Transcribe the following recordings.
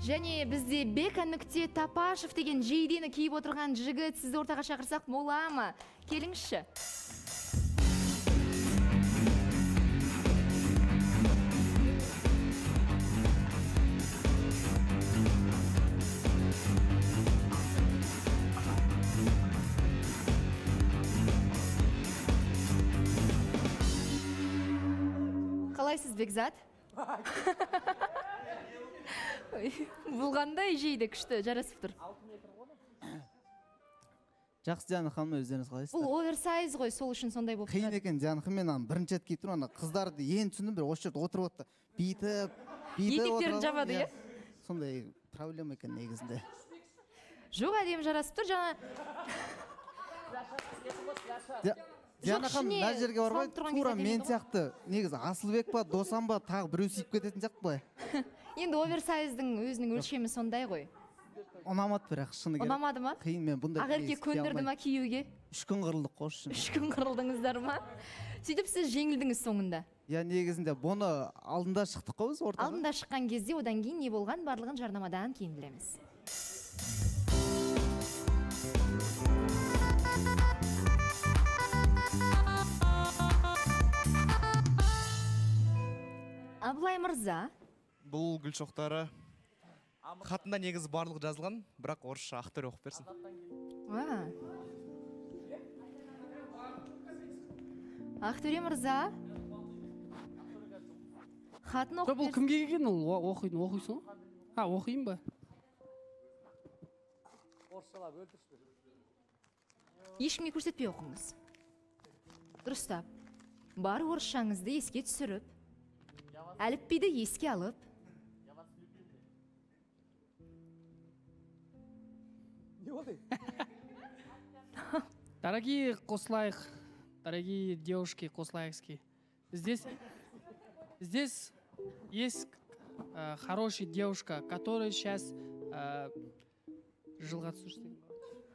Және бізде Бека нүкте Тапашев деген жейдені киіп отырған жігіт сізді ортаға шақырсақ бола ма? Келіңізші. Қалайсыз, Бекзат? Бұл қандай жейді күшті, жарасып тұр. Жақсы, Диана ханым, өздеріңіз қалайсыздар? Бұл оверсайз ғой, сол үшін сондай болып тұрады. Қиын екен, Диана ханым, мен бірінші рет киіп тұрмын, қыздарды ең түсіндім, бір осы жерде отырып отты. Бүйтіп етектерін жабады, иә? Сондай проблема екен негізінде. Жоқ, әдемі жарасып тұр, жаңа. Диана ханым, мына жерге бармай, тура мен сияқты, негізі Асылбек па, Досам ба, тағы біреу сүйіп кететін сияқты былай. Енді оверсайздың өзінің өлшемі сондай ғой. Ұнамады бірақ, шыны керек. Ұнамады ма? Қиын, мен бұндай Ақерке көндірді ма киюге? 3 күн қырылдық қош үшін. 3 күн қырылдыңыздар ма? Сөйтіп сіз жеңілдіңіз соңында. Я негізінде бұны алдында шықтық қой біз ортаға. Алдында шыққан кезде одан кейін не болған барлығын жарнамадан кейін білеміз. Абылай мырза. Бұл гүл шоқтары хатында негізі барлық жазылған, бірақ орысша Ақтөре оқып берсін. Ақтөре мырза. Хатын оқып берсін. Бұл кімге келген ол оқисың? Оқиын ба? Ешкімге көрсетпей оқыңыз. Дұрыстап. Бар орысшаңызды еске түсіріп, әліпбиді еске алып. Дорогие Кослаих, дорогие девушки Кослаевские, здесь есть хорошая девушка, которая сейчас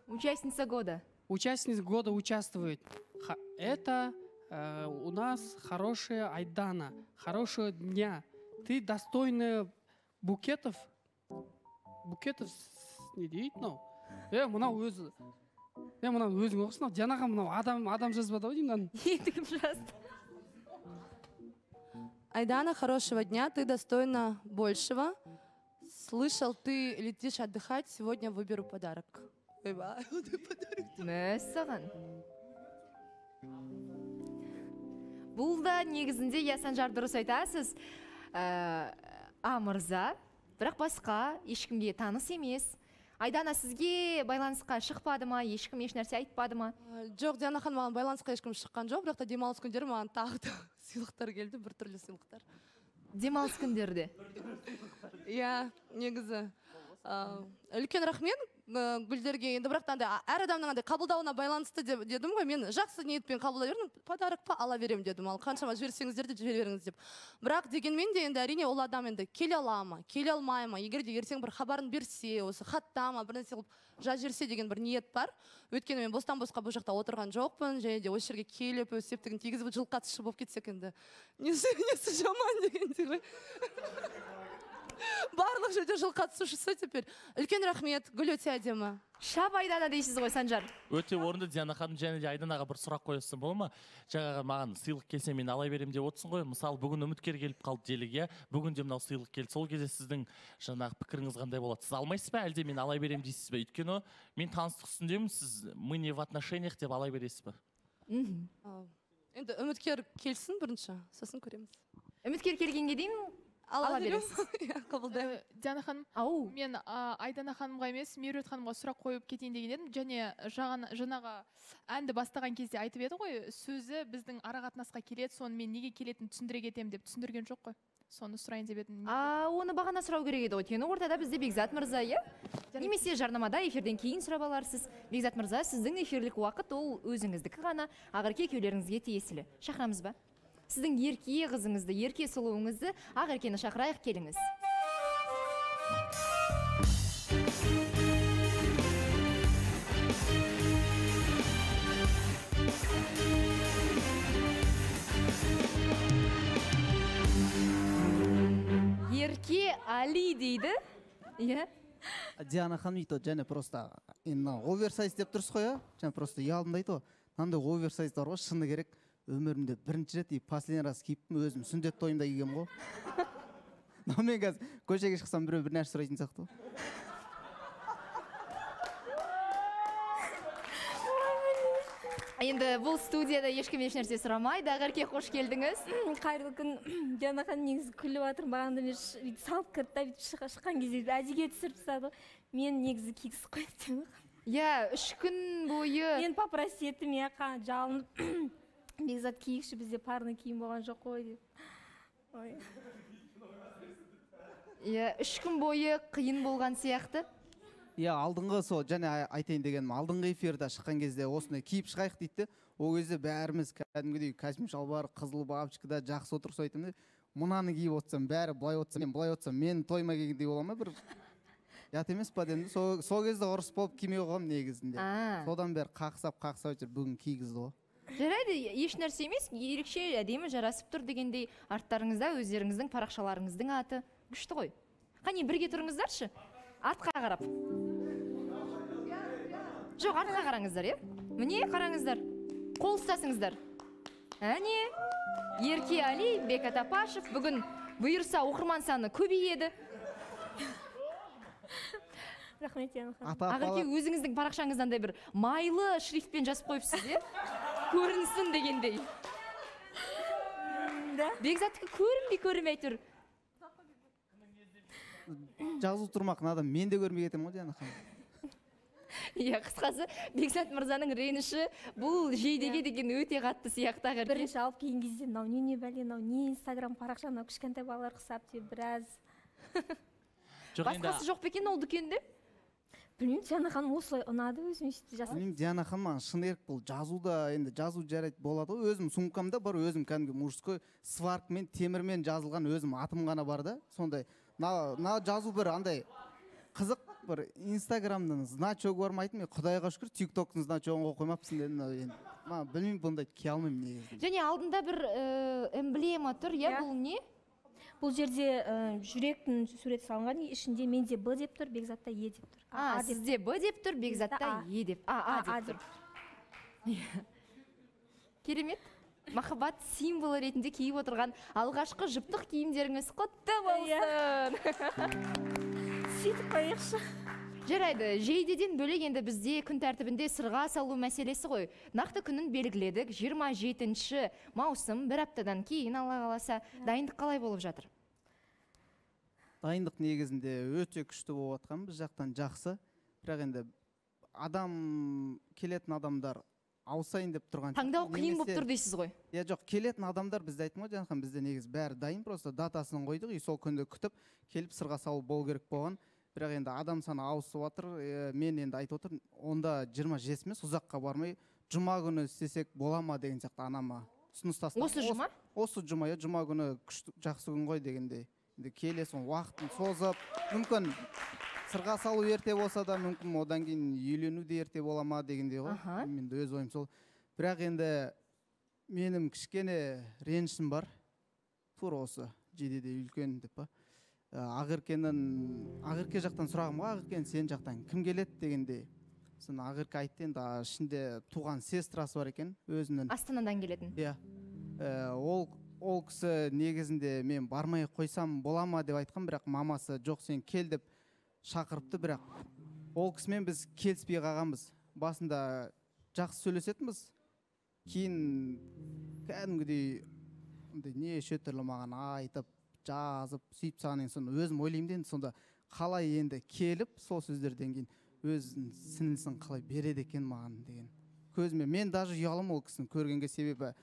Участница года. Участница года участвует. Это у нас хорошая Айдана, хорошего дня. Ты достойна букетов не дейді, но мынау өзі. Мынау өзің оқысың, Дианаға мынау адам жазбады ғой деймін. Ендігім жазды. Айдана, хорошего дня, ты достойна большего. Слышал, ты летишь отдыхать, сегодня выберу подарок. Мәссаған. Бұл да негізінде Санжар дұрыс айтасыз. Мырза, бірақ басқа ешкімге таныс емес. Айдана сізге байланысқа шықпады ма, ешкім еш нәрсе айтпады ма? Жоқ, Диана ханым, маған байланысқа ешкім шыққан жоқ, бірақ та демалыс күндері маған тағы да сыйлықтар келді, бір түрлі сыйлықтар. Демалыс күндерде? Иә, негізі. Үлкен рахмет гүлдерге, енді бірақ та әр адамның қабылдауына байланысты дедім ғой, мен жақсы ниетпен қабылдай бердім, подарок па ала берем дедім, ал қаншама жіберсеңіздер де жібере беріңіз деп. Бірақ дегенмен де енді әрине ол адам енді келе ала ма, келе алмай ма, егер де ертең бір хабарын берсе, осы хаттама, бір нәрсе қылып жаз жерсе деген бір ниет бар. Өйткені мен бостан босқа бұл жақта отырған жоқпын, және де осы жерге келіп өз септігін тигізіп жылқатышы болып кетсек енді несі жаман дегендей ғой. Барлық жерде жыл қатысушысы теперь. Үлкен рахмет, гүл өте әдемі. Шап Айдана дейсіз ғой, Санжар. Өте орынды, Диана ханым, және де Айданаға бір сұрақ қойсын бола ма? Жаңағы маған сыйлық келсе мен алай берем деп отырсың ғой. Мысалы, бүгін үміткер келіп қалды делік, иә? Бүгін де мынау сыйлық келді. Сол кезде сіздің жаңағы пікіріңіз қандай болады? Сіз алмайсыз ба, әлде мен алай берем дейсіз бе? Өйткені мен таныстық үстіндемін, сіз мы не в отношениях деп алай бересіз ба? Енді үміткер келсін бірінші, сосын көреміз. Үміткер келгенге дейін ала бересіз. Қабылдаймын. Диана ханым, мен Айдана ханымға емес, Меруерт ханымға сұрақ қойып кетейін деген едім. Және жаңағы әнді бастаған кезде айтып еді ғой, сөзі біздің арақатынасқа келеді, соны мен неге келетінін түсіндіре кетемін деп түсіндірген жоқ қой. Соны сұрайын деп едім. Оны бағана сұрау керек еді ғой. Өйткені ортада бізде Бекзат мырза, иә? Немесе жарнамада эфирден кейін сұрап аларсыз. Бекзат мырза, сіздің эфирлік уақыт ол өзіңіздікі ғана, Ақерке екеулеріңізге тиесілі. Шақырамыз ба? Сіздің ерке қызыңызды, ерке сұлуыңызды Ақеркені шақырайық, келіңіз. Ерке Али дейді. Иә. Диана ханым дейді және просто енді оверсайз деп тұрсыз ғой, иә? Және просто ұялдым дейді ғой. Мынандай оверсайз бар ғой, шыны керек. Өмірімде бірінші рет и последний раз киіптім, өзім сүндет тойымда кигем ғой. Но мен қазір көшеге шықсам біреу бір нәрсе сұрайтын сияқты ғой. Енді бұл студияда ешкім еш нәрсе сұрамайды. Ақерке, қош келдіңіз. Қайырлы күн. Диана ханым негізі күліп жатырмын. Бағанда мен салып кірді, шыққан кезде әдеге түсіріп тастады. Мен негізі кигісіп қойып. Иә, 3 күн бойы. Мен попросить еттім, иә, жалынып. Бекзат киікші, бізде парный киім болған жоқ қой деп. Иә, 3 күн бойы қиын болған сияқты. Иә, алдыңғы сол және айтайын дегенім, алдыңғы эфирда шыққан кезде осындай киіп шығайық дейді. Ол кезде бәріміз кәдімгідей костюм шалбар, қызыл бабочкада жақсы отырып айтамын. Мынаны киіп отырсам, бәрі былай отырса, мен былай отырсам, мен тойма келгендей бола ма бір ят емес па дедім. Сол кезде ұрыс болып кимей қойғам негізінде. Содан бері қақсап жүр, бүгін кигізді ғой. Жарайды, еш нәрсе емес, ерекше әдемі жарасып тұр дегендей, арттарыңызда өздеріңіздің парақшаларыңыздың аты күшті ғой. Қане бірге тұрыңыздаршы, артқа қарап. Жоқ, артқа қараңыздар, е? Міне қараңыздар, қол ұстасыңыздар. Әне, Ерке Али, Бекат Апашев, бүгін бұйырса оқырман саны көбейеді. Рахмет, Диана ханым. Ақерке, өзіңіздің парақшаңыздандай бір майлы шрифтпен жазып қойыпсыз, е? Көрінсін дегендей. Бекзаттікі көрінбей тұр. Жазу тұрмақын адам мен де көрмей кетем ғой, Диана ханым. Иә, қысқасы Бекзат мырзаның реніші бұл жейдеге деген өте қатты сияқты. Ақерке. Бірінші алып кейін кезде, мынау не бәле, мынау не Инстаграм парақша, мынау кішкентай балалар құсап деп біраз. Басқасы жоқ па екен ол дүкенде? Білмеймін, Диана ханым осылай ұнады өзім сөйтіп жасап. Білмеймін, Диана ханым маған шын ерік бұл жазуда, енді жазу жарайды болады ғой. Өзім сумкамда бар, өзім кәдімгі мужской сваркмен, темірмен жазылған өзім атым ғана бар да. Сондай, на жазу бір андай қызық бір Инстаграмның значогы бармайтын, мен Құдайға шүкір TikToктың значогын қоймапсың дедім. Білмеймін, бұндай кие алмаймын негізі. Және алдында бір эмблема тұр, иә, бұл не? Бұл жерде жүректің суреті салынған, ішінде менде Б деп тұр, Бекзатта Е деп тұр. Сізде Б деп тұр, Бекзатта Е деп. А деп тұр. Керемет. Махаббат символы ретінде киіп отырған алғашқы жұптық киімдеріңіз құтты болсын. Сөйтіп қойықшы. Жарайды, жейдеден бөлек енді бізде күн тәртібінде сырға салу мәселесі ғой. Нақты күнін белгіледік, 27 маусым, бір аптадан кейін Алла қаласа. Дайындық қалай болып жатыр? Дайындық негізінде өте күшті болып жатқан, біз жақтан жақсы. Бірақ енді келетін адамдар ауысайын деп тұрған. Таңдау қиын болып тұр дейсіз ғой? Иә, жоқ, келетін адамдар бізде айттым ғой, Жанхан, бізде негіз бәрі дайын, просто датасын қойдық, и сол күнді күтіп, келіп сырға салу болу керек болған. Бірақ енді адам саны ауысып жатыр, мен енді айтып отырмын, онда 27 емес, ұзаққа бармай, жұма күні істесек бола ма деген сияқты анама ұсыныс тастады. Осы жұма? Осы жұма, жұма күні жақсы күн ғой дегендей. Енді келесің, уақытын созып, мүмкін сырға салу ерте болса да, мүмкін одан кейін үйлену де ерте бола ма дегендей ғой. Мен өз ойым сол. Бірақ енді менің кішкене ренішім бар. Тура осы жейдеде үлкен деп па. Ақерке жақтан сұрағым ғой, Ақерке сен жақтан кім келеді дегенде. Сын Ақерке айтты, енді ішінде туған сестрасы бар екен, өзінің. Астанадан келетін. Иә. Ол кісі негізінде мен бармай қойсам бола ма деп айтқан, бірақ мамасы жоқ сен кел деп шақырыпты, бірақ ол кісімен біз келіспей қалғанбыз. Басында жақсы сөйлесетінбіз. Кейін кәдімгідей неше түрлі маған айтып, жазып, сөйтіп саған соны өзім ойлаймын енді, сонда қалай енді келіп, сол сөздерден кейін өзінің сіңілісін қалай береді екен маған деген. Көзіме мен даже ұялым ол кісіні көргенге, себебі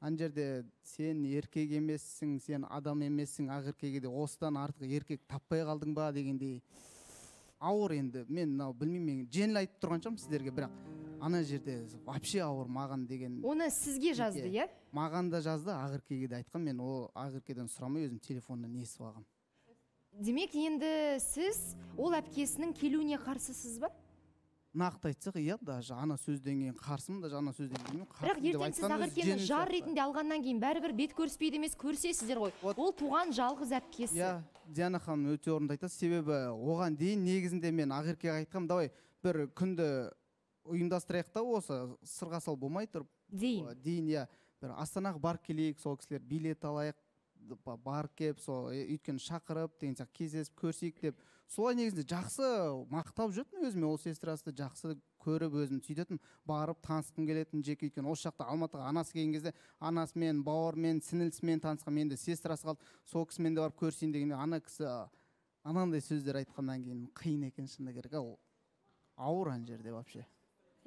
ана жерде сен еркек емессің, сен адам емессің, Ақеркеге де осыдан артық еркек таппай қалдың ба дегендей ауыр. Енді мен білмеймін, мен жеңіл айтып тұрған шығармын сіздерге, бірақ ана жерде вообще ауыр маған деген. Оны сізге жазды, иә? Маған да жазды, Ақеркеге де айтқан, мен ол Ақеркеден сұрамай өзім телефоннан естіп алғам. Демек, енді сіз ол әпкесінің келуіне қарсысыз ба? нақты айтсақ иә даже ана сөзден кейін қарсымын даже ана сөзден кейін бірақ ертең сіз Ақеркені жар ретінде алғаннан кейін бәрібір бет көріспейді емес, көрсесіздер ғой. Ол туған жалғыз әпкесі. Иә, Диана ханым өте орынды айтасыз. Себебі оған дейін негізінде мен Ақеркеге айтқам, давай бір күнді ұйымдастырайық та осы сырға сал болмай тұрып дейін иә бір Астанаға барып келейік, сол кісілер билет алайық, барып келіп сол өйткені шақырып деген сияқты кездесіп көрсейік деп солай негізінде жақсы мақтап жүрдім өзіме, ол сестрасты жақсы көріп өзім сөйтетін, барып танысқым келетін жеке, өйткені осы жақта Алматыға анасы келген кезде анасымен, бауырымен, сіңілісімен танысқам, енді сестрасы қалды, сол кісімен де барып көрсейін дегенде ана кісі анандай сөздер айтқаннан кейін қиын екен шыны керек, ол ауыр ана жерде вообще.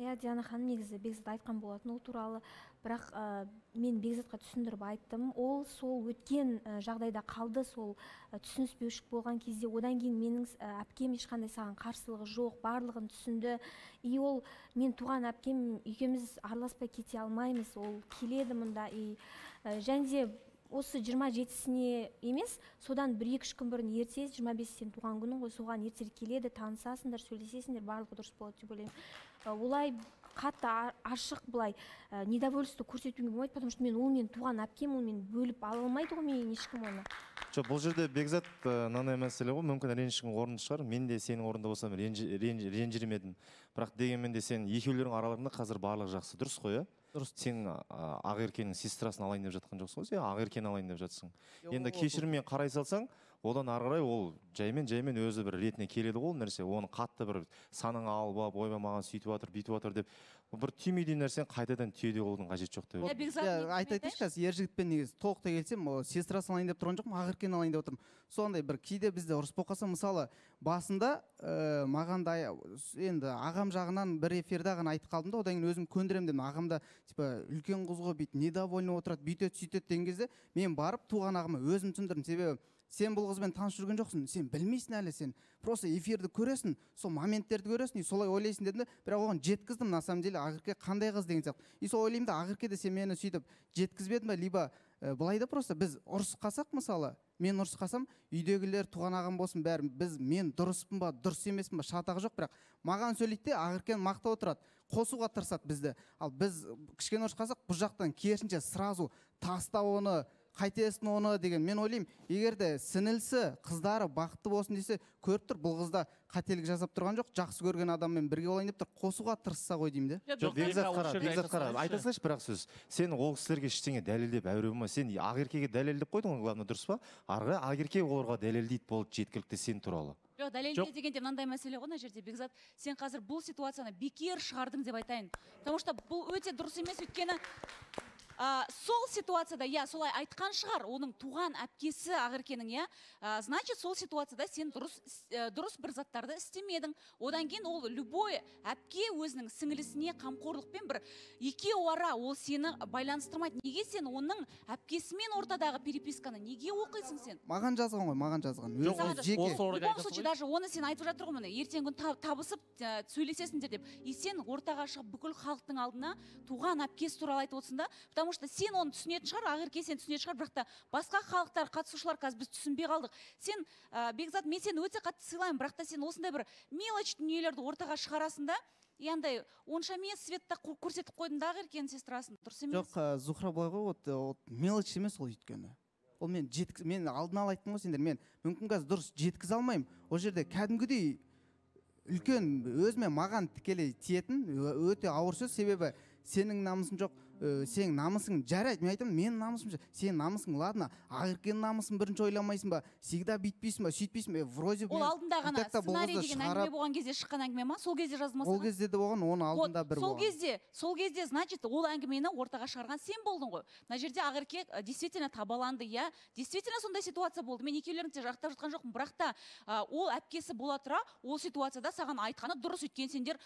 Иә, Диана ханым негізі Бекзат айтқан болатын ол туралы, бірақ мен Бекзатқа түсіндіріп айттым. Ол сол өткен жағдайда қалды, сол түсініспеушілік болған кезде, одан кейін менің әпкем ешқандай саған қарсылығы жоқ, барлығын түсінді. И ол мен туған әпкем екеуміз араласпай кете алмаймыз, ол келеді мұнда. Және де осы 27-сіне емес, содан 1-2 күн бұрын ерте, 25-сен туған күнің ғой, соған ертерек келеді, танысасыңдар, сөйлесесіңдер, барлығы дұрыс болады деп ойлаймын. Олай қатты ашық былай недовольство көрсетуге болмайды, потому что мен ол мен туған әпкем, ол мен бөліп ала алмайды ғой менен ешкім оны. Жоқ, бұл жерде Бекзат мынандай мәселе ғой, мүмкін ренжішің орынды шығар. Мен де сенің орнында болсам ренжірмедім едім. Бірақ дегенмен де сен екеулерің араларында қазір барлығы жақсы, дұрыс қой, иә? Дұрыс. Сен Ақеркенің сестрасын алайын деп жатқан жоқсың ғой, сен Ақеркені алайын деп жатсың. Енді кешіріммен қарай салсаң, одан ары қарай ол жаймен өзі бір ретіне келеді ғой нәрсе. Оны қатты бір саныңа алып, ойбай маған сөйтіп жатыр, бүйтіп жатыр деп бір түймедей нәрсені қайтадан түйеде болудың қажеті жоқ деп. Айтайыншы қазір ер жігітпен негізі толықтай келсем, сестрасын алайын деп тұрған жоқпын, Ақеркені алайын деп отырмын. Сондай бір кейде бізде ұрыс болып қалса, мысалы басында маған да енді ағам жағынан бір эфирде ғана айтып қалдым да, одан кейін өзім көндірем дедім. Ағам да типа үлкен қыз ғой, бүйтіп недовольный отырады, бүйтеді сөйтеді деген кезде мен барып туған ағама өзім түсіндірдім. Себебі сен бұл қызбен таныс жүрген жоқсың, сен білмейсің әлі, сен просто эфирді көресің, сол моменттерді көресің, солай ойлайсың дедім де, бірақ оған жеткіздім на самом деле Ақерке қандай қыз деген сияқты. И сол ойлаймын да, Ақерке де сен мені сөйтіп жеткізбедің ба, либо былай да просто біз ұрысқасақ, мысалы мен ұрысқасам, үйдегілер, туған ағам болсын, бәрі мен дұрыспын ба, дұрыс емеспін ба, шатағы жоқ, бірақ маған сөйлейді де Ақеркені мақтап отырады, қосуға тырысады бізді. Ал біз кішкене ұрысқасақ, бұл жақтан керісінше сразу таста оны, қайтесін оны деген. Мен ойлаймын, егер де сіңілісі, қыздары бақытты болсын десе, көріп тұр, бұл қызда қателік жасап тұрған жоқ, жақсы көрген адаммен бірге болайын деп тұр, қосуға тырысса ғой деймін де. Жоқ, Бекзат қара, айта салайыншы бірақ сөз. Сен ол кісілерге ештеңе дәлелдеп әуре болма. Сен Ақеркеге дәлелдеп қойдың ғой, главное, дұрыс па? Ары Ақерке оларға дәлелдейді болды жеткілікті сен туралы. Жоқ, дәлелдеу дегенде мынандай мәселе ғой, мына жерде Бекзат, сен қазір бұл ситуацияны бекер шығардың деп айтайын. Потому что бұл өте дұрыс емес, өйткені сол ситуацияда, я солай айтқан шығар, оның туған әпкесі Ақеркенің, я, значит, сол ситуацияда сен дұрыс бір заттарды істемедің. Одан кейін ол любой әпке өзінің сіңілісіне қамқорлықпен бір екеуара ол сені байланыстырмайды. Неге сен оның әпкесімен ортадағы переписканы неге оқисың сен? Маған жазған ғой, маған жазған. В любом случае, даже оны сен айтып жатыр ғой, ертең күн табысып сөйлесесіңдер деп. И сен ортаға шығып бүкіл халықтың алдына туған әпкесі туралы айтып отырсың да, потому что сен оны түсінетін шығар, Ақерке сен түсінетін шығар, бірақ та басқа халықтар, қатысушылар қазір біз түсінбей қалдық. Сен, Бекзат, мен сені өте қатты сыйлаймын, бірақ та сен осындай бір мелочь дүниелерді ортаға шығарасың да, яндай онша емес светті көрсетіп қойдың да Ақеркенің сестрасын, дұрыс емес? Жоқ, Зухра былай ғой, мелочь емес ол өйткені. Ол мен алдын ала айттым ғой сендер, мен мүмкін қазір дұрыс жеткізе алмаймын. Ол жерде кәдімгідей үлкен өзіме маған тікелей тиетін өте ауыр сөз, себебі сенің намысың жоқ, сенің намысың жарайды, мен айтамын, менің намысым жоқ, сенің намысың, ладно, Ақеркенің намысын бірінші ойламайсың ба, всегда бүйтпейсің ба, сөйтпейсің ба, вроде ол алдында ғана сценарий деген әңгіме болған кезде шыққан әңгіме ма, сол кезде жазылмаса? Ол кезде де болған, оның алдында бір болған. Сол кезде, значит, ол әңгімені ортаға шығарған сен болдың ғой. Мына жерде Ақерке действительно табаланды, я, действительно сондай ситуация болды. Мен екеулерін де жақтап жатқан жоқпын, бірақ та ол әпкесі бола тұра, ол ситуацияда саған айтқаны дұрыс, өткен сендер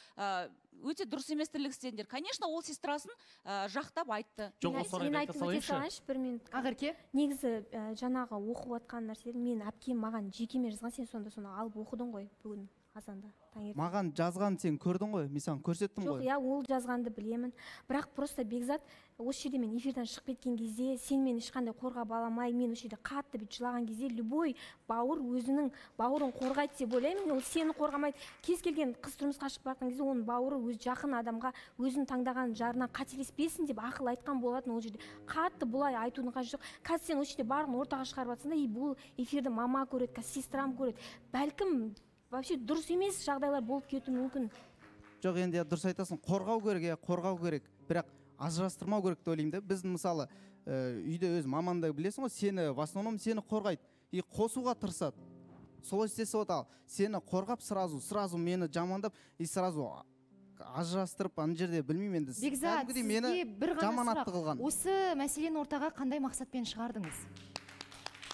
өте дұрыс емес тірлік істедіңдер. Конечно, ол сестрасын жақтап айтты. Мен айтып өте салайыншы бір минут. Ақерке, негізі жаңағы оқып жатқан нәрселер мен әпкем маған жекеме жазған, сен сонда соны алып оқыдың ғой бүгін. азанда таңертең. Маған жазған сен көрдің ғой, мен саған көрсеттім Жоқ, ғой. иә, ол жазғанды білемін. Бірақ просто Бекзат, осы жерде мен эфирден шығып кеткен кезде, сен мені ешқандай қорғап аламай, мен осы жерде қатты бүйтіп жылаған кезде, любой бауыр өзінің бауырын қорғайды деп ойлаймын. Ол сені қорғамайды. Кез келген қыз тұрмысқа шығып жатқан кезде, оның бауыры өз жақын адамға өзін таңдаған жарына қателеспесін деп ақыл айтқан болатын. Ол жерде қатты бұлай айтудың қажеті жоқ. Қазір сен осы жерде барлығын ортаға шығарып жатсың да, бұл эфирді мама көреді, сестрам көреді. Бәлкім вообще дұрыс емес жағдайлар болып кетуі мүмкін. Жоқ, енді дұрыс айтасың, қорғау керек, қорғау керек, бірақ ажырастырмау керек деп ойлаймын да. Біз мысалы үйде өз мамаңды білесің ғой, сені в основном сені қорғайды и қосуға тырысады. Солай істесе ал сені қорғап сразу мені жамандап и сразу ажырастырып ана жерде білмеймін енді. Бекзат, сізге бір ғана сұрақ. Осы мәселені ортаға қандай мақсатпен шығардыңыз?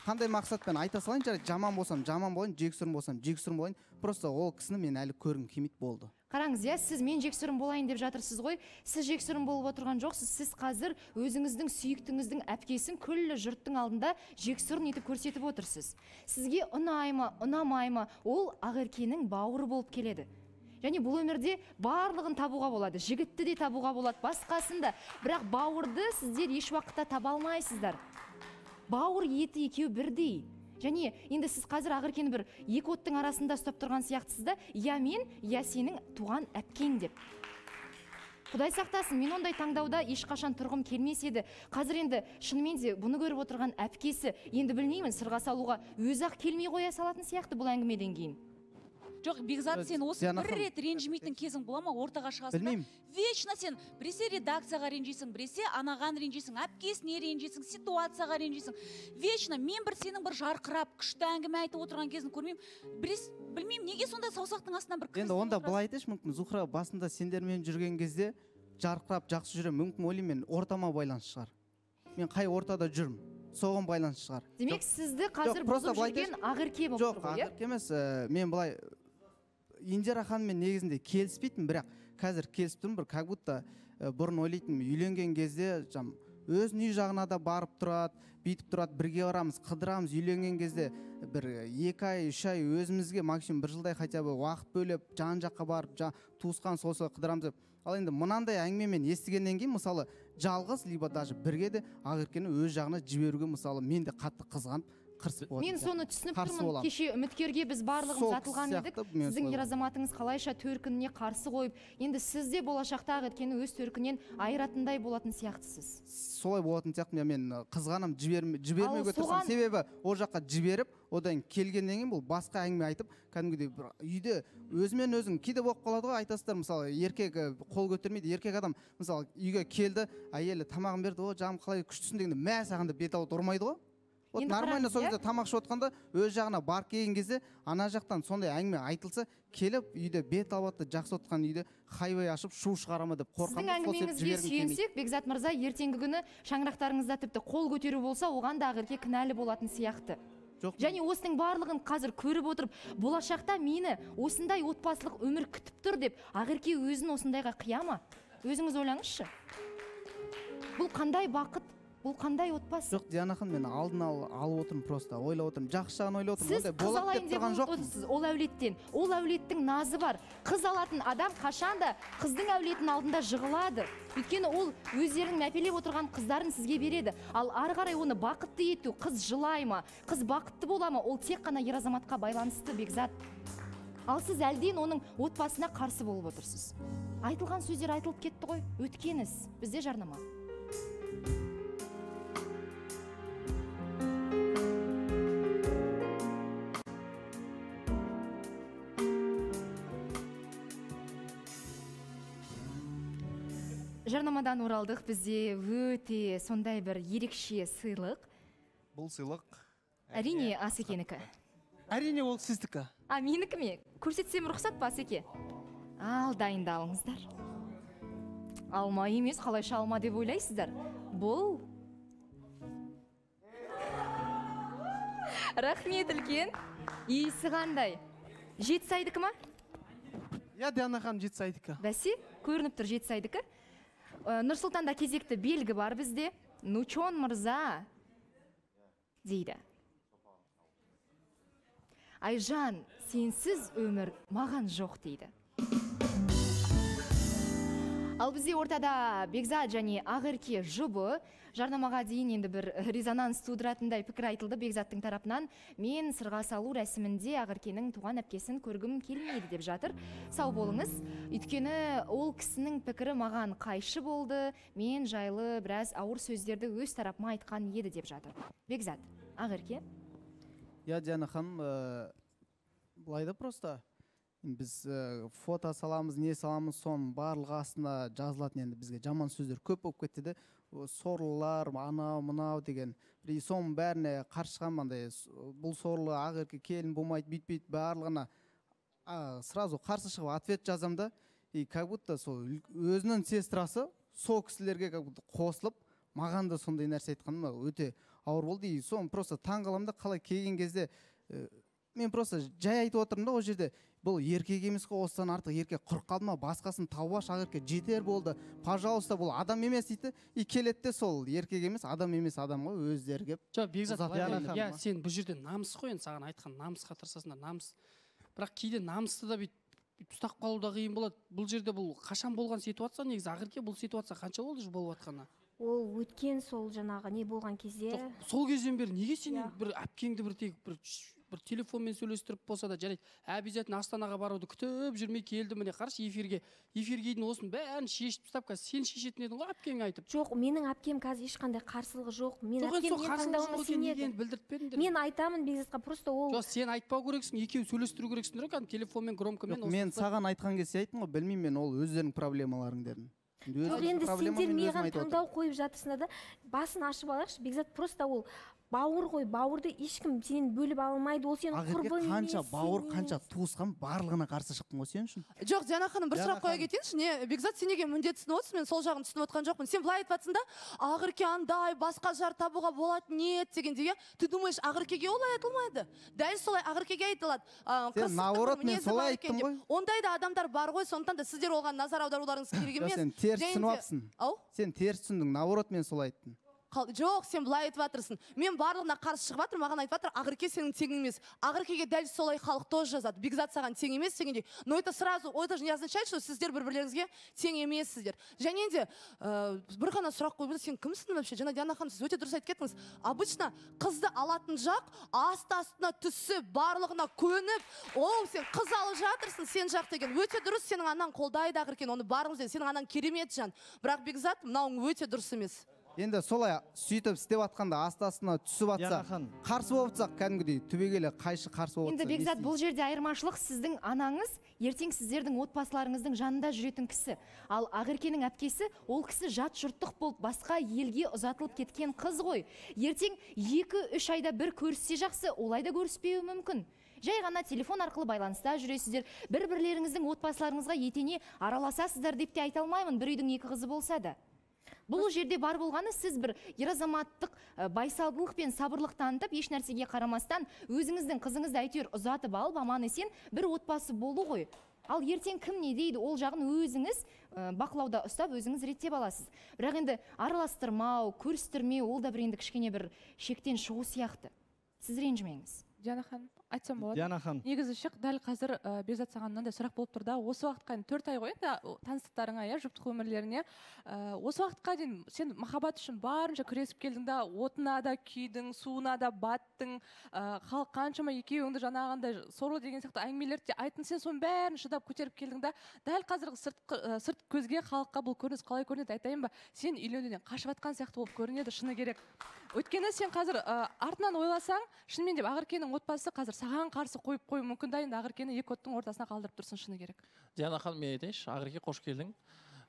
Қандай мақсатпен айта салайын, жарайды, жаман болсам жаман болайын, жексұрын болсам жексұрын болайын. Просто ол кісіні мен әлі көргім келмейді, болды. Қараңыз, иә, сіз мен жексұрын болайын деп жатырсыз ғой. Сіз жексұрын болып отырған жоқсыз. Сіз қазір өзіңіздің сүйіктіңіздің әпкесін күллі жұрттың алдында жексұрын етіп көрсетіп отырсыз. Сізге ұнамай ма, ол Ақеркенің бауыры болып келеді. Және бұл өмірде барлығын табуға болады. Жігітті де табуға болады, басқасын да. Бірақ бауырды сіздер еш уақытта таба алмайсыздар. Бауыр еті екеу бірдей. Және енді сіз қазір Ақеркені бір екі оттың арасында ұстап тұрған сияқтысыз да, я мен, я сенің туған әпкең деп. Құдай сақтасын, мен ондай таңдауда ешқашан тұрғым келмес еді. Қазір енді шынымен де бұны көріп отырған әпкесі, енді білмеймін, сырға салуға өзі-ақ келмей қоя салатын сияқты бұл әңгімеден кейін. Жоқ, Бекзат, сен осы бір рет ренжімейтін кезің бола ма, ортаға шығасың? Білмеймін. Вечно сен біресе редакцияға ренжисің, біресе анаған ренжисің, әпкесіне ренжисің, ситуацияға ренжисің. Вечно мен бір сенің бір жарқырап, күшті әңгіме айтып отырған кезін көрмеймін. Білмеймін, неге сонда саусақтың астынан бір енді онда былай айтайыншы, мүмкін Зухра басында сендермен жүрген кезде жарқырап жақсы жүремін, мүмкін ойлаймын, мен ортама байланысты шығар. Мен қай ортада жүрмін, соған байланысты шығар. Демек, сізді қазір бұзып жүрген Ақерке болып тұр ғой, иә? Жоқ, Ақерке емес, мен былай Индира ханыммен негізінде келіспейтін, бірақ қазір келісіп тұрмын, бір как будто бұрын ойлайтынмын, үйленген кезде өзінің үй жағына да барып тұрады, бүйтіп тұрады, бірге барамыз, қыдырамыз, үйленген кезде бір 2 ай, 3 ай өзімізге максимум 1 жылдай хотя бы уақыт бөліп, жан жаққа барып, туысқан солса қыдырамыз деп. Ал енді мынандай әңгімемен естігеннен кейін, мысалы, жалғыз, либо даже бірге де Ақеркені өз жағына жіберуге, мысалы, мен де қатты қызғанып, мен соны түсініп тұрмын. Кеше үміткерге біз барлығымыз атылған едік. Сіздің ер азаматыңыз қалайша төркініне қарсы қойып, енді сіз де болашақта Ақеркені өз төркінен айыратындай болатын сияқтысыз. Солай болатын сияқты, мен қызғанам, жібермеуге тырысам. Себебі ол жаққа жіберіп, одан келгеннен кейін бұл басқа әңгіме айтып, кәдімгідей үйде өзімен өзің кейде болып қалады ғой, айтасыздар, мысалы, еркек қол көтермейді, еркек адам мысалы үйге келді, әйелі тамағын берді, о жаным қалай күштісің дегенде мә саған да бет алып ұрмайды ғой. Вот нормально сол кезде тамақ ішіп отқанда өз жағына барып келген кезде ана жақтан сондай әңгіме айтылса, келіп үйде бет алып жақсы отқан үйде хайвей ашып шу шығарама деп қорқамын. Сіздің әңгімеңізге сүйенсек, Бекзат мырза, ертеңгі күні шаңырақтарыңызда тіпті қол көтеру болса, оған да Ақерке кінәлі болатын сияқты. Және осының барлығын қазір көріп отырып, болашақта мені осындай отбасылық өмір күтіп тұр деп Ақерке өзін осындайға қияма? Өзіңіз ойлаңызшы. Бұл қандай бақыт? Бұл қандай отбасы? Жоқ, Диана ханым, мен алдын алып отырмын, просто ойлап отырмын, жақсы жағын ойлап отырмын. Сіз қыз алайын деп отырсыз, ол әулеттен. Ол әулеттің назы бар. Қыз алатын адам қашанда қыздың әулетін алдында жығылады. Өйткені ол өздерінің мәпелеп отырған қыздарын сізге береді. Ал ары қарай оны бақытты ету, қыз жылай ма, қыз бақытты бола ма, ол тек қана ер азаматқа байланысты, Бекзат. Ал сіз әлден оның отбасына қарсы болып отырсыз. Айтылған сөздер айтылып кетті ғой, өткен іс. Бізде жарнама. Жарнамадан оралдық. Бізде өте сондай бір ерекше сыйлық. Бұл сыйлық Әрине Асекенікі. Әрине ол сіздікі. Менікі ме? Көрсетсем рұқсат па, Асеке? Ал, дайындалыңыздар. Алма емес, қалайша алма деп ойлайсыздар? Бұл рахмет үлкен. Иісі қандай? Жетісайдікі ма? Я Диана ханым Жетісайдікі. Бәсе, көрініп тұр Жетісайдікі. Нұрсұлтанда кезекті белгі бар бізде. Нучон мырза дейді. Айжан, сенсіз өмір маған жоқ дейді. Ал бізде ортада Бекзат және Ақерке жұбы. Жарнамаға дейін енді бір резонанс тудыратындай пікір айтылды Бекзаттың тарапынан. Мен сырға салу рәсімінде Ақеркенің туған әпкесін көргім келмейді деп жатыр. Сау болыңыз. Өйткені ол кісінің пікірі маған қайшы болды. Мен жайлы біраз ауыр сөздерді өз тарапыма айтқан еді деп жатыр. Бекзат, Ақерке? Я Диана ханым, былай да просто біз фото саламыз, не саламыз, соның барлығы астына жазылатын, енді бізге жаман сөздер көп болып кетті де, сорлылар, анау мынау деген. Бір соның бәріне қарсы шығамын, бұл сорлы Ақерке келін болмайды, бүйтпейді, барлығына сразу қарсы шығып ответ жазам да, и как будто сол өзінің сестрасы сол кісілерге как будто қосылып, маған да сондай нәрсе айтқаным өте ауыр болды. И соны просто таң қаламын да, қалай келген кезде мен просто жай айтып отырмын да, ол жерде бұл еркек емес қой, осыдан артық еркек құрып қалды ма, басқасын тауып аш, Ақерке жетер болды, пожалуйста, бұл адам емес дейді. И келеді де сол еркек емес, адам емес адамға өздері келіп. Жоқ, Бекзат, иә, сен бұл жерде намыс қой, енді саған айтқан намысқа тырысасыңдар, намыс. Бірақ кейде намысты да бүйтіп ұстап қалу да қиын болады. Бұл жерде бұл қашан болған ситуация, негізі Ақерке бұл ситуация қанша болды болып жатқаны? Ол өткен сол жаңағы не болған кезде. Сол кезден бері неге сен бір әпкеңді бір телефонмен сөйлестіріп болса да жарайды, обязательно Астанаға баруды күтіп жүрмей келді, міне қарашы эфирге дейін осының бәрін шешіп тастап, қазір сен шешетін едің ғой әпкең айтып. Жоқ, менің әпкем қазір ешқандай қарсылығы жоқ. Мен әпкем таңдауыма сенеді. Мен айтамын Бекзатқа, просто ол. Жоқ, сен айтпау керексің, екеуі сөйлестіру керексіңдер ғой, телефонмен громкомен. Мен саған айтқан кезде айттым ғой, білмеймін мен, ол өздерінің проблемаларың дедім. Жоқ, енді сендер маған таңдау қойып жатырсыңдар да, басын ашып алайықшы. Бекзат просто ол бауыр ғой, бауырды ешкім сенен бөліп алмайды, ол сенің құрбың емес. Қанша бауыр, қанша туысқан, барлығына қарсы шықтың ғой сен үшін. Жоқ, Диана ханым, бір сұрақ қоя кетейінші, не Бекзат сен неге міндет түсініп отырсың, мен сол жағын түсініп отқан жоқпын. Сен былай айтып жатсың да, Ақерке андай, басқа жар табуға болады, нет дегенде, ты думаешь, Ақеркеге олай айтылмайды? Дәл солай Ақеркеге айтылады. Сен наоборот, мен солай айттым ғой. Ондай да адамдар бар ғой, сондықтан да сіздер оған назар аударуларыңыз керек емес. Сен теріс түсініп алыпсың. Сен теріс түсіндің, наоборот, мен солай айттым. Жоқ, сен былай айтып жатырсың. Мен барлығына қарсы шығып жатыр, маған айтып жатыр, Ақерке сенің теңің емес. Ақеркеге дәл солай халық тоже жазады. Бекзат саған тең емес дегенде. Но это сразу, это же не означает, что сіздер бір-бірлеріңізге тең емессіздер. Және де бір ғана сұрақ қойып, сен кімсің вообще? Жаңа Диана ханым, сіз өте дұрыс айтып кеттіңіз. Обычно қызды алатын жақ асты-астына түсіп, барлығына көніп, ол сен қыз алып жатырсың, сен жақ деген. Өте дұрыс, сенің анаң қолдайды Ақеркені, оны барыңыз деді. Сенің анаң керемет жан. Бірақ Бекзат, мынауың өте дұрыс емес. Енді солай сөйтіп істеп атқанда астасына түсіп атса, қарсы болып атсақ, кәдімгідей түбегейлі қайшы қарсы болып атса. Енді Бекзат, бұл жерде айырмашылық, сіздің анаңыз ертең сіздердің отбасыларыңыздың жанында жүретін кісі. Ал Ақеркенің әпкесі, ол кісі жат жұрттық болып басқа елге ұзатылып кеткен қыз ғой. Ертең 2-3 айда бір көріссе жақсы, олай да көріспеуі мүмкін. Жай ғана телефон арқылы байланыста жүресіздер, бір-бірлеріңіздің отбасыларыңызға етене араласасыздар деп те айта алмаймын, бір үйдің екі қызы болса да. Бұл жерде бар болғаны сіз бір ер-азаматтық байсалдылық пен сабырлық танытып, еш нәрсеге қарамастан өзіңіздің қызыңызды әйтеуір ұзатып алып, аман-есен бір отбасы болу ғой. Ал ертең кім не дейді, ол жағын өзіңіз бақылауда ұстап, өзіңіз реттеп аласыз. Бірақ енді араластырмау, көрістірмеу, ол да бір енді кішкене бір шектен шығу сияқты. Сіз ренжімеңіз. Диана ханым, айтсам болады. Диана ханым. Негізі шық, дәл қазір Бекзат саған мынандай сұрақ болып тұр да, осы уақытқа дейін 4 ай ғой енді таныстықтарыңа, жұптық өмірлеріне. Осы уақытқа дейін сен махаббат үшін барынша күресіп келдің да, отына да күйдің, суына да баттың, халық қаншама екеуіңді жаңағындай сорлы деген сияқты әңгімелерді айттың, сен соның бәрін шыдап көтеріп келдің да, дәл қазіргі сырт көзге халыққа бұл көрініс қалай көрінеді айтайын ба? Сен үйленуден қашып жатқан сияқты болып көрінеді, шыны керек. Өйткені сен қазір артынан ойласаң, шынымен деп Ақеркенің отбасы қазір саған қарсы қойып қою мүмкін да, енді Ақеркені екі оттың ортасына қалдырып тұрсың, шыны керек. Диана ханым, мен айтайыншы, Ақерке қош келдің.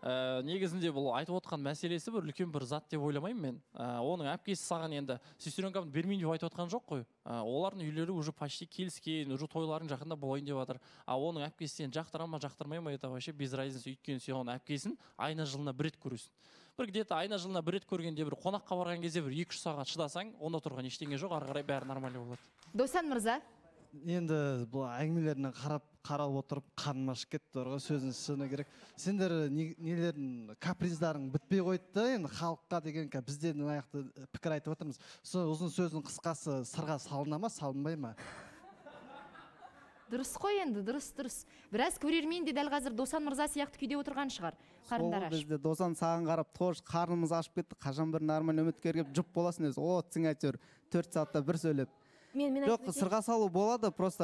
Негізінде бұл айтып отқан мәселесі бір үлкен бір зат деп ойламаймын мен. Оның әпкесі саған енді сестренкамды бермейін деп айтып отқан жоқ қой. Олардың үйлері уже почти келіскен, уже тойларың жақында болайын деп жатыр. Оның әпкесі сен жақтыра ма, жақтырмай ма, это вообще без разницы, өйткені сен оның әпкесін айна жылына бір рет көресің. Бір где-то айна жылына бір рет көргенде бір қонаққа барған кезде бір 2-3 сағат шыдасаң, онда тұрған ештеңе жоқ, ары қарай бәрі нормально болады. Досан мырза. Енді бұл әңгімелеріне қарап отырып қаным ашып кетті ғой, сөзін шыны керек. Сендер нелердің каприздарың бітпей қойды да, енді халыққа деген бізде аяқты пікір айтып отырмыз. Ұзын сөздің қысқасы сырға салына ма, салынбай ма? Дұрыс қой енді, дұрыс. Біраз көрермен де дәл қазір Досан мырза сияқты күйде отырған шығар. Қарындар ашып. Бізде Досан саған қарап, тош қарнымыз ашып кетті, қашан бір нормаль үміткер келіп жұп боласың өзі. О, сің әйтеуір 4 сағатта бір сөйлеп. Жоқ, сырға салу болады, просто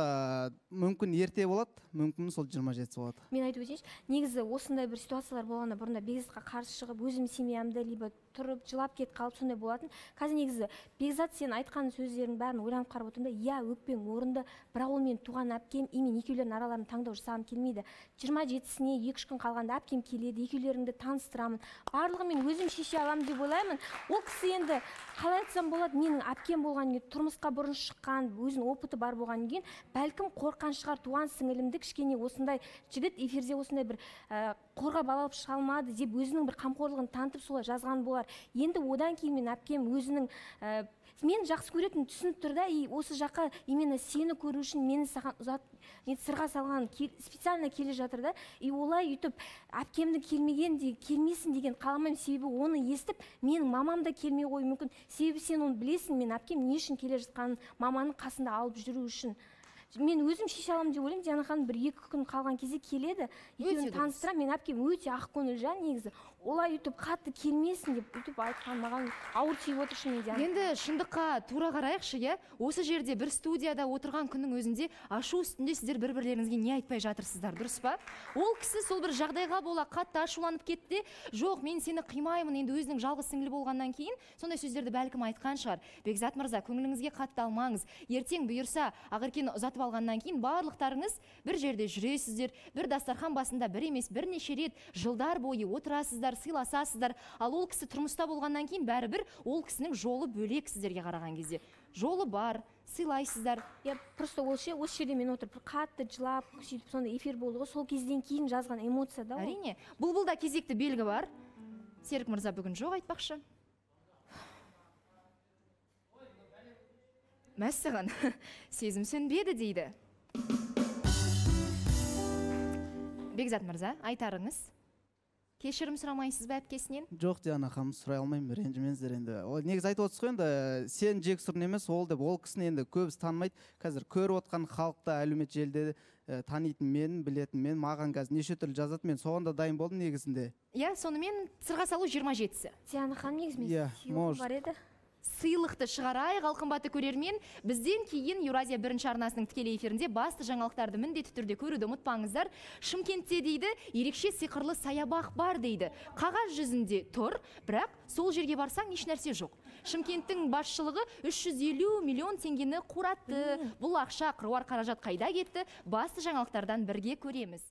мүмкін ерте болады, мүмкін сол 27 болады. Мен айтып өтейінші, негізі осындай бір ситуациялар болғанда бұрында Бекзатқа қарсы шығып, өзім семьямды либо тұрып, жылап кетіп қалып сондай болатын. Қазір негізі Бекзат сен айтқан сөздердің бәрін ойланып қарап отырмын да, иә, өкпең орынды, бірақ ол мен туған әпкем, мен екеулерінің араларын таңдау жасағым келмейді. 27-сіне 2-3 күн қалғанда әпкем келеді, екеулеріңді таныстырамын. Барлығын мен өзім шеше аламын деп ойлаймын. Ол кісі енді қалай айтсам болады, менің әпкем болған кейін, тұрмысқа бұрын шыққан, өзінің опыты бар болған кейін, бәлкім қорқан шығар, туған сіңілімді кішкене осындай жігіт эфирде осындай бір қорғап алып шыға алмады деп өзінің бір қамқорлығын танытып солай жазған болар. Енді одан кейін мен әпкем өзінің мен жақсы көретін түсініп тұр да, осы жаққа именно сені көру үшін мені саған сырға салған специально келе жатыр да. Олай үйтіп әпкемді келмесін деген қаламаймын, себебі оны естіп менің мамам да келмей қойы мүмкін. Себебі сен оны білесің, мен әпкем не үшін келе жатқанын маманың қасында алып жүру үшін. Мен өзім шеше аламын деп ойлаймын. Диана ханым 1-2 күн қалған кезде келеді. Екеуін таныстырамын. Мен әпкем өте ақкөңіл жан негізі. Олай үйтіп қатты келмесін деп үйтіп айтқан маған ауыр тиіп отыр шынымен. Енді шындыққа тура қарайықшы, иә? Осы жерде бір студияда отырған күннің өзінде ашу үстінде сіздер бір-бірлеріңізге не айтпай жатырсыздар, дұрыс па? Ол кісі сол бір жағдайға бола қатты ашуланып кетті. Жоқ, мен сені қимаймын, енді өзінің жалғыз сіңлі болғаннан кейін сондай сөздерді бәлкім айтқан шығар. Бекзат мырза, көңіліңізге қатты алмаңыз. Ертең бұйырса, Ақеркені ұзатып алғаннан кейін барлықтарыңыз бір жерде жүресіздер, бір дастархан басында бір емес бірнеше рет жылдар бойы отырасыздар, сыйласасыздар. Ал ол кісі тұрмыста болғаннан кейін бәрібір ол кісінің жолы бөлек сіздерге қараған кезде. Жолы бар, сыйлайсыздар. Просто осы жерде мен отырып қатты жылап, сөйтіп сондай эфир болды ғой, сол кезден кейін жазған эмоция да. Әрине, бұлбұлда кезекті белгі бар. Серік мырза бүгін жоқ айтпақшы. Мәссаған, сезім сөнбеді дейді. Бекзат мырза, айтарыңыз. Кешірім сұрамайсыз ба әпкесінен? Жоқ, Диана ханым, сұрай алмаймын, ренжімеңіздер енді. Негіз айтып отырсыз ғой енді, сен жексұрын емес, ол деп, ол кісіні енді көбісі танымайды. Қазір көріп отқан халықта әлеуметтік желіде танитын мен, білетін мен, маған қазір неше түрлі жазады, мен соған да дайын болдым негізінде. Иә, сонымен сырға салу 27-сі. Диана ханым, негізімен сыйлық бар еді. Сыйлықты шығарайық, қымбатты көрермен. Бізден кейін Еуразия 1-ші арнасының тікелей эфирінде басты жаңалықтарды міндетті түрде көруді ұмытпаңыздар. Шымкентте дейді, ерекше сиқырлы саябақ бар дейді. Қағаз жүзінде тұр, бірақ сол жерге барсаң еш нәрсе жоқ. Шымкенттің басшылығы 350 миллион теңгені қуратты. Бұл ақша қыруар қаражат қайда кетті? Басты жаңалықтардан бірге көреміз.